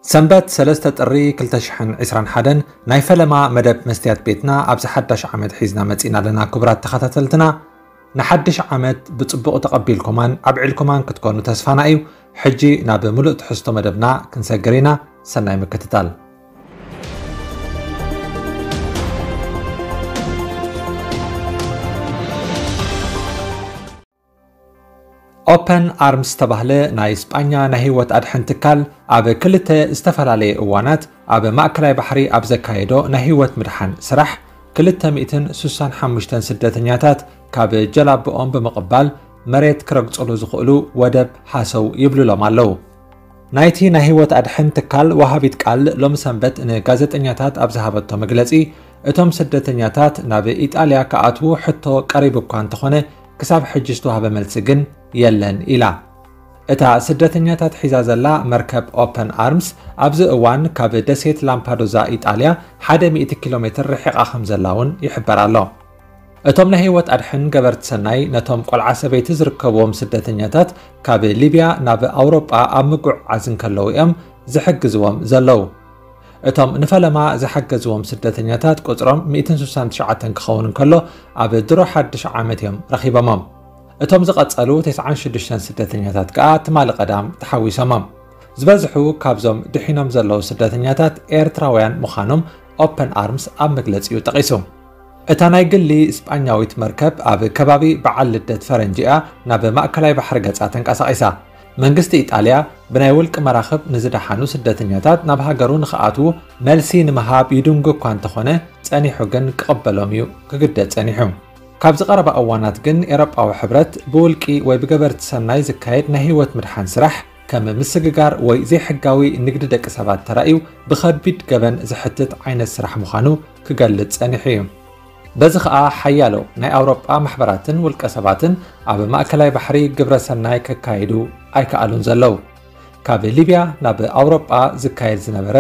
ሰንበት ሰለስተ ጥሪ ክልተ ሽሕን ዕስራን ሓደን ናይ ፈለማ መደብ መስትያት ቤትና ኣብዚ ሓዳሽ ዓመት ሒዝና መጺና ኣለና። ክቡራት ተኸታተልትና፣ ንሓድሽ ዓመት ብጽቡቕ ተቐቢልኩማን ኣብዒልኩማን ክትኮኑ ተስፋና እዩ። ሕጂ ናብ ምሉእ ትሕዝቶ መደብና ክንሰግር ኢና። ሰናይ ምክትታል። ኦፐን ኣርምስ ዝተባህለ ናይ ስጳኛ ናይ ህይወት ኣድሕን ትካል ኣብ ክልተ ዝተፈላለየ እዋናት ኣብ ማእከላይ ባሕሪ ኣብ ዘካየዶ ናይ ህይወት ምድሓን ስራሕ፣ ክልተ ሚእትን ስሳን ሓሙሽተን ስደተኛታት ካብ ጀላብኦም ብምቕባል መሬት ክረግጽሉ ዝኽእሉ ወደብ ሃሰው ይብልሎም ኣለዉ። ናይቲ ናይ ህይወት ኣድሕን ትካል ወሃቢት ቃል ሎሚ ሰንበት ንጋዜጠኛታት ኣብ ዝሃበቶ መግለጺ፣ እቶም ስደተኛታት ናብ ኢጣልያ ክኣትዉ ሕቶ ቀሪቡ እኳ እንተኾነ፣ ክሳብ ሕጂ ዝተዋህበ መልሲ ግን የለን ኢላ። እታ ስደተኛታት ሒዛ ዘላ መርከብ ኦፐን ኣርምስ ኣብዚ እዋን ካብ ደሴት ላምፓዶዛ ኢጣልያ ሓደ ሚእቲ ኪሎ ሜትር ርሒቓ ከም ዘላ እውን ይሕበር ኣሎ። እቶም ናይ ህይወት ኣድሕን ገበርቲ ሰናይ ነቶም ቆልዓ ሰበይቲ ዝርከብዎም ስደተኛታት ካብ ሊብያ ናብ ኣውሮጳ ኣብ ምጉዕዓዝ እንከለዉ እዮም ዝሕግዝዎም ዘለዉ። እቶም ንፈለማ ዝሓገዝዎም ስደተኛታት ቁጽሮም ሚእትን ስሳን ትሽዓተን ክኸውን እንከሎ፣ ኣብ ድሮ ሓድሽ ዓመት እዮም ረኺቦሞም። እቶም ዝቐጸሉ ተስዓን ሽዱሽተን ስደተኛታት ከኣ ትማሊ ቀዳም ተሓዊሶሞም። ዝበዝሑ ካብዞም ድሒኖም ዘለዉ ስደተኛታት ኤርትራውያን ምዃኖም ኦፐን ኣርምስ ኣብ መግለጺኡ ጠቒሱ። እታ ናይ ግሊ ስጳኛዊት መርከብ ኣብ ከባቢ በዓል ልደት ፈረንጂ እያ ናብ ማእከላይ ባሕሪ ገጻ ተንቀሳቒሳ። መንግስቲ ኢጣልያ ብናይ ውልቂ መራኽብ ንዝደሓኑ ስደተኛታት ናብ ሃገሩ ንኽኣትዉ መልሲ ንምሃብ ይድንጉ እኳ እንተኾነ፣ ጸኒሑ ግን ክቕበሎም እዩ ክግደድ ጸኒሑ። ካብዚ ቀረባ እዋናት ግን ኤውሮጳዊ ሕብረት ብውልቂ ወይ ብገበርቲ ሰናይ ዝካየድ ናይ ህይወት ምድሓን ስራሕ ከም ምስግጋር ወይ ዘይሕጋዊ ንግዲ ደቂ ሰባት ተራእዩ ብኸቢድ ገበን ዝሕትት ዓይነት ስራሕ ምዃኑ ክገልጽ ጸኒሑ እዩ። በዚ ኸኣ ሓያሎ ናይ ኣውሮጳ ማሕበራትን ውልቀ ሰባትን ኣብ ማእከላይ ባሕሪ ግብረ ሰናይ ከካይዱ ኣይከኣሉን ዘለዉ። ካብ ሊብያ ናብ ኣውሮጳ ዝካየድ ዝነበረ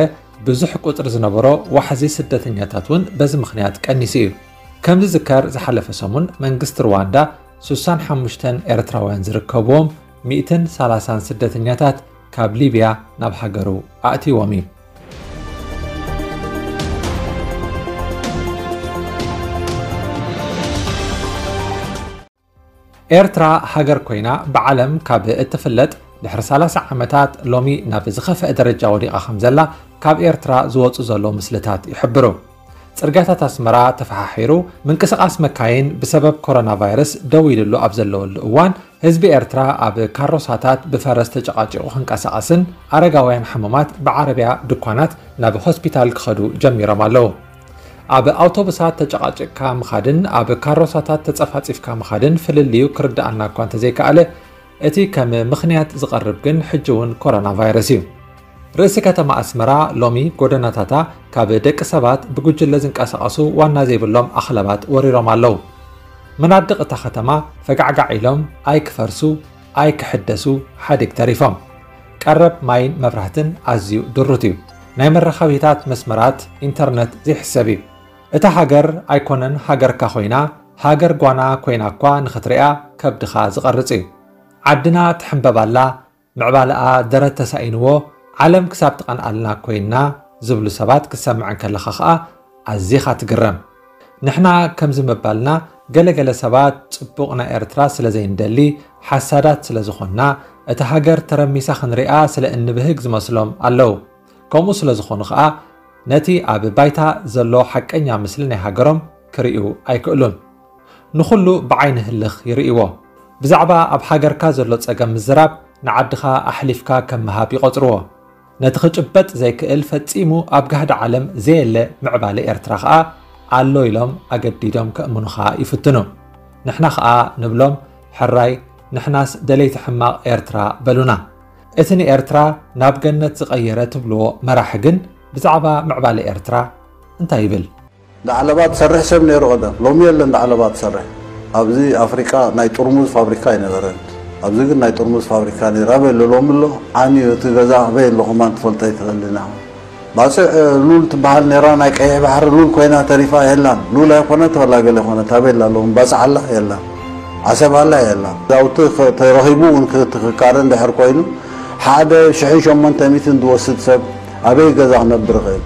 ብዙሕ ቁጽሪ ዝነበሮ ዋሕዚ ስደተኛታት እውን በዚ ምኽንያት ቀኒሱ እዩ። ከም ዝዝከር ዝሓለፈ ሰሙን መንግስቲ ሩዋንዳ ስሳን ሓሙሽተን ኤርትራውያን ዝርከብዎም ሚእትን ሰላሳን ስደተኛታት ካብ ሊብያ ናብ ሃገሩ ኣእትይዎም እዩ። ኤርትራ ሃገር ኮይና ብዓለም ካብ እትፍለጥ ድሕሪ ሰላሳ ዓመታት ሎሚ ናብ ዝኸፍአ ደረጃ ወዲቓ ከም ዘላ ካብ ኤርትራ ዝወጹ ዘለዉ ምስልታት ይሕብሩ። ጽርግያታት ኣስመራ ተፈሓሒሩ፣ ምንቅስቓስ መካይን ብሰበብ ኮሮና ቫይረስ ደው ኢልሉ ኣብ ዘለወሉ እዋን፣ ህዝቢ ኤርትራ ኣብ ካሮሳታት ብፈረስ ተጨቓጪቑ ክንቀሳቐስን ኣረጋውያን ሕሙማት ብዓረብያ ድኳናት ናብ ሆስፒታል ክኸዱ ጀሚሮም ኣለዉ። ኣብ ኣውቶቡሳት ተጨቓጭቕካ ምኻድን ኣብ ካሮሳታት ተጸፋጺፍካ ምኻድን ፍልልዩ ክርድኣና እኳ እንተዘይከኣለ፣ እቲ ከም ምኽንያት ዝቐርብ ግን ሕጂ እውን ኮሮና ቫይረስ እዩ። ርእሲ ከተማ ኣስመራ ሎሚ ጎደናታታ ካብ ደቂ ሰባት ብጉጅለ ዝንቀሳቐሱ ዋና ዘይብሎም ኣኽለባት ወሪሮም ኣለዉ። መናድቕ እታ ከተማ ፈጋዕጋዕ ኢሎም ኣይክፈርሱ ኣይክሕደሱ ሓዲግ ተሪፎም። ቀረብ ማይን መብራህትን ኣዝዩ ድሩት እዩ። ናይ መራኸቢታት መስመራት ኢንተርነት ዘይሕሰብ እዩ። እታ ሃገር ኣይኮነን ሃገርካ ኮይና፣ ሃገር ጓና ኮይና እኳ ንኽትሪኣ ከብድኻ ዝቐርጽ እዩ። ዓድና ትሕንበብ ኣላ፣ ምዕባለኣ ደረት ተሳኢንዎ፣ ዓለም ክሳብ ትቐንኣልና ኮይና ዝብሉ ሰባት ክትሰምዕ እንከለኻ ኸኣ ኣዚኻ ትግረም። ንሕና ከምዚ ምባልና ገለገለ ሰባት ጽቡቕ ናይ ኤርትራ ስለ ዘይንደሊ፣ ሓሳዳት ስለ ዝኾንና፣ እታ ሃገር ተረሚሳ ክንሪኣ ስለ እንብህግ ዝመስሎም ኣለዉ። ከምኡ ስለ ዝኾኑ ኸኣ ነቲ ኣብ ባይታ ዘሎ ሓቀኛ ምስሊ ናይ ሃገሮም ክርእዩ ኣይክእሉን። ንኹሉ ብዓይኒ ህልኽ ይርእይዎ። ብዛዕባ ኣብ ሃገርካ ዘሎ ጸገም ምዝራብ ንዓድኻ ኣሕሊፍካ ከም ምሃብ ይቖጽርዎ። ነቲ ክጭበጥ ዘይክእል ፈጺሙ ኣብ ጋህዲ ዓለም ዘየለ ምዕባለ ኤርትራ ኸኣ ኣሎ ኢሎም ኣገዲዶም ከእምኑኻ ይፍትኑ። ንሕና ኸኣ ንብሎም፣ ሕራይ፣ ንሕናስ ደለይቲ ሕማቕ ኤርትራ በሉና። እቲ ንኤርትራ ናብ ገነት ዝቐየረ ትብልዎ መራሒ ግን ብዛዕባ ምዕባለ ኤርትራ እንታይ ይብል? ዳዕለባ ትሰርሕ ሰብ ነይሩ ቀደም፣ ሎሚ የለን ዳዕለባ ትሰርሕ። ኣብዚ ኣፍሪቃ ናይ ጥርሙዝ ፋብሪካ ኣይነበረን። ኣብዚ ግን ናይ ጥርሙዝ ፋብሪካ ነይሩ። ኣበይ ኣሎ ሎሚ ኣሎ? ዓንዩ እቲ ገዛ ኣበይ ኣሎ ከማን ትፈልጦ ኣይትኽእልን ኢኻ። ባጽዕ ሉል ትበሃል ነይራ፣ ናይ ቀይሕ ባሕሪ ሉል ኮይና ተሪፋ የላን። ሉል ኣይኮነት ወላ ገለ ኮነት፣ ኣበይ ኣላ ሎሚ? ባጽዕ ኣላ? የላን። ዓሰብ ኣላ? የላን። ዛውቲ ኸ-፣ ተረኺቡ እውን ክትክካረ እንድሕር ኮይኑ፣ ሓደ ሽሕን ሸሞንተ ሚእትን ዝወስድ ሰብ ኣበይ ገዛ ክነብር እኽእል?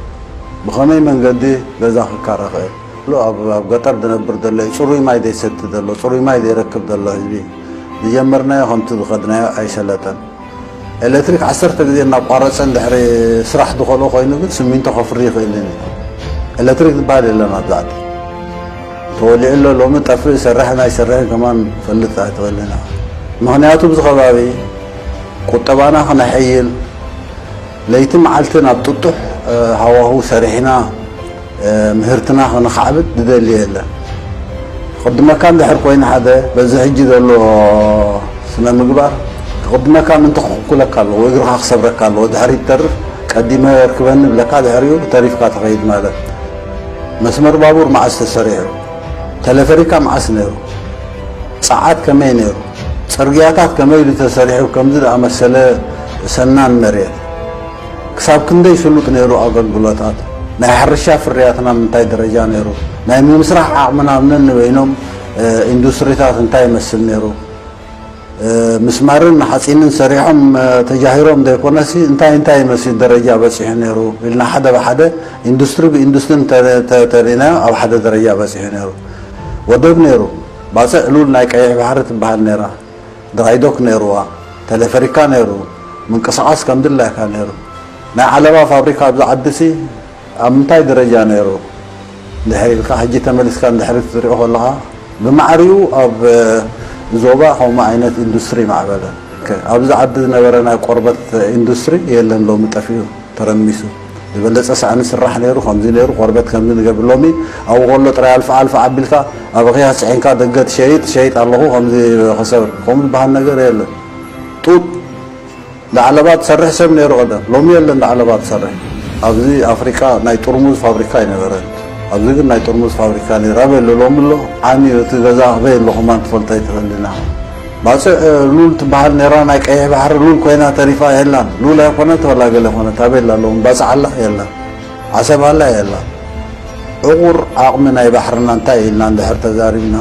ብኸመይ መንገዲ ገዛ ክካረ እኽእል? ሎ ኣብ ኣብ ገጠር ዝነብር ዘሎ እዩ። ጽሩይ ማይ ዘይሰቲ ዘሎ፣ ጽሩይ ማይ ዘይረክብ ዘሎ ህዝቢ። ዝጀመርናዮ ከምቲ ዝኸድናዮ ኣይሰለጠን። ኤሌክትሪክ ዓሰርተ ግዜ እናቋረጸ እንድሕሪ ስራሕ ዝኸልኦ ኮይኑ ግን ስሚንቶ ከፍሪ ይኽእልን እዩ። ኤሌክትሪክ ዝበሃል የለን ኣብዚ ዓዲ። ተወሊዑ ኣሎ፣ ሎሚ ጠፍእ ይሰርሕን ኣይሰርሕን ከማን ፈልጥ ኣይትኽእልን ኢኻ። ምኽንያቱ ኣብዚ ከባቢ ቁጠባና ክነሐይል፣ ለይቲ መዓልቲ ናብ ጥጡሕ ሃዋሁ ሰሪሕና ምህርትና ከነኻዕብት ዝደሊ የለን። ክቕድመካ እንድሕር ኮይኑ ሓደ በዚ ሕጂ ዘሎ ስነ ምግባር ክቕድመካ ምንተ ክኽኩለካ ኣለዎ፣ እግርኻ ክሰብረካ ኣለዎ። ድሕሪት ተርፍ ቀዲመ የርክበኒ ብለካ ድሕሪኡ ተሪፍካ ትኸይድ ማለት። መስመር ባቡር መዓስ ተሰሪሑ? ተለፈሪካ መዓስ ነይሩ? ጸዓት ከመይ ነይሩ? ጽርግያታት ከመይ ኢሉ ተሰሪሑ? ከምዚ ዝኣመሰለ ሰናን መሬት ክሳብ ክንደይ ስሉጥ ነይሩ ኣገልግሎታት? ናይ ሕርሻ ፍርያትና ምንታይ ደረጃ ነይሩ? ናይ ምምስራሕ ዓቕምና ኣብ ነንበይኖም ኢንዱስትሪታት እንታይ ይመስል ነይሩ? ምስማርን ሓፂንን ሰሪሖም ተጃሂሮም ዘይኮነሲ እንታይ እንታይ ይመስል ደረጃ በፂሑ ነይሩ ኢልና ሓደ ብሓደ ኢንዱስትሪ ብኢንዱስትሪ ተሪናዮ ኣብ ሓደ ደረጃ በፂሑ ነይሩ። ወደብ ነይሩ። ባፅዕ ሉል ናይ ቀይሕ ባሕሪ ትበሃል ነይራ። ድራይዶክ ነይርዋ። ተለፈሪካ ነይሩ። ምንቅስቓስ ከም ድላይካ ነይሩ። ናይ ዓለባ ፋብሪካ ኣብዚ ዓዲሲ ኣብ ምንታይ ደረጃ ነይሩ? ድሕሪ ኢልካ ሕጂ ተመሊስካ ንድሕሪት ትሪኦ ከለኻ ብማዕሪኡ ኣብ ዞባ ከምኡ ዓይነት ኢንዱስትሪ ማዕበለ። ኣብዚ ዓዲ ዝነበረ ናይ ቆርበት ኢንዱስትሪ የለን፣ ሎሚ ጠፊኡ ተረሚሱ። ዝበለፀ ሳእኒ ስራሕ ነይሩ፣ ከምዚ ነይሩ፣ ቆርበት ከምዚ ንገብር። ሎሚ ኣብኡ ከሎ ጥራይ ኣልፋ ኣልፋ ኣቢልካ ኣብ ኣኺያ ስዒንካ ደገ ትሸይጥ ሸይጥ ኣለኹ ከምዚ ክሰብር ከምኡ ዝበሃል ነገር የለን። ጡጥ ዳዕለባ ትሰርሕ ሰብ ነይሩ ቀደም፣ ሎሚ የለን ዳዕለባ ትሰርሕ። ኣብዚ ኣፍሪቃ ናይ ጥርሙዝ ፋብሪካ ኣይነበረን። ኣብዚ ግን ናይ ጥርሙዝ ፋብሪካ ነይሩ። ኣበይ ኣሎ ሎሚ ኣሎ? ዓንዩ እቲ ገዛ ኣበይ ኣሎ ከማን ትፈልጦ ኣይትኽእልን ኢኻ። ባፅዕ ሉል ትበሃል ነይራ፣ ናይ ቀይሕ ባሕሪ ሉል ኮይና ተሪፋ የላን። ሉል ኣይኮነት ወላ ገለ ኮነት ኣበይ ኣላ ሎሚ? ባፅዕ ኣላ የላን። ዓሰብ ኣላ የላን። ዕቑር ዓቕሚ ናይ ባሕርና እንታይ ኢልና እንድሕር ተዛሪብና፣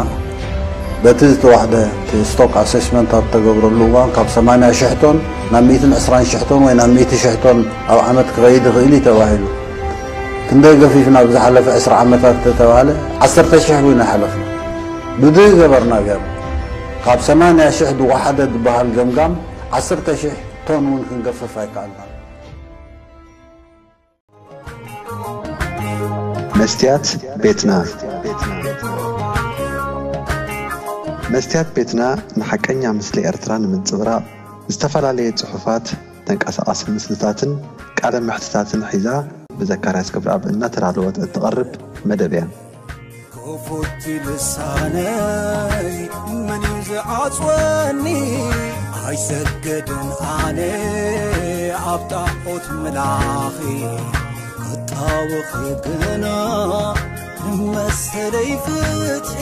በቲ ዝተዋሕደ እቲ ስቶክ ኣሰስመንት ኣብ ተገብረሉ እዋን ካብ ሰማንያ ሽሕ ቶን ናብ ሚእትን ዕስራን ሽሕ ቶን ወይ ናብ ሚእቲ ሽሕ ቶን ኣብ ዓመት ክኸይድ ይኽእል እዩ ተባሂሉ። ክንደይ ገፊፍና ብዝሓለፈ ዕስራ ዓመታት ተተባህለ ዓሰርተ ሽሕ እውን ኣይሓለፍና። ብድህ ገበርና ገር ካብ ሰማንያ ሽሕ ዝወሓደ ዝበሃል ገምጋም ዓሰርተ ሽሕ ቶን እውን ክንገፍፍ ኣይከኣልናን። መስትያት ቤትና። መስትያት ቤትና ንሓቀኛ ምስሊ ኤርትራ ንምንጽብራቕ፣ ዝተፈላለየ ጽሑፋት፣ ተንቀሳቓሲ ምስልታትን ቃለ መሕትታትን ሒዛ ብዘካርያስ ገብረኣብ እናተዳለወት እትቐርብ መደብ እያ። ክፉት ልሳነይ መን እዩ ዝዓጽወኒ? ኣይሰግድን ኣነ ኣብ ጣዖት ምላኺ፣ ክጣወኺ ግና ንመሰለይ ፍትሒ።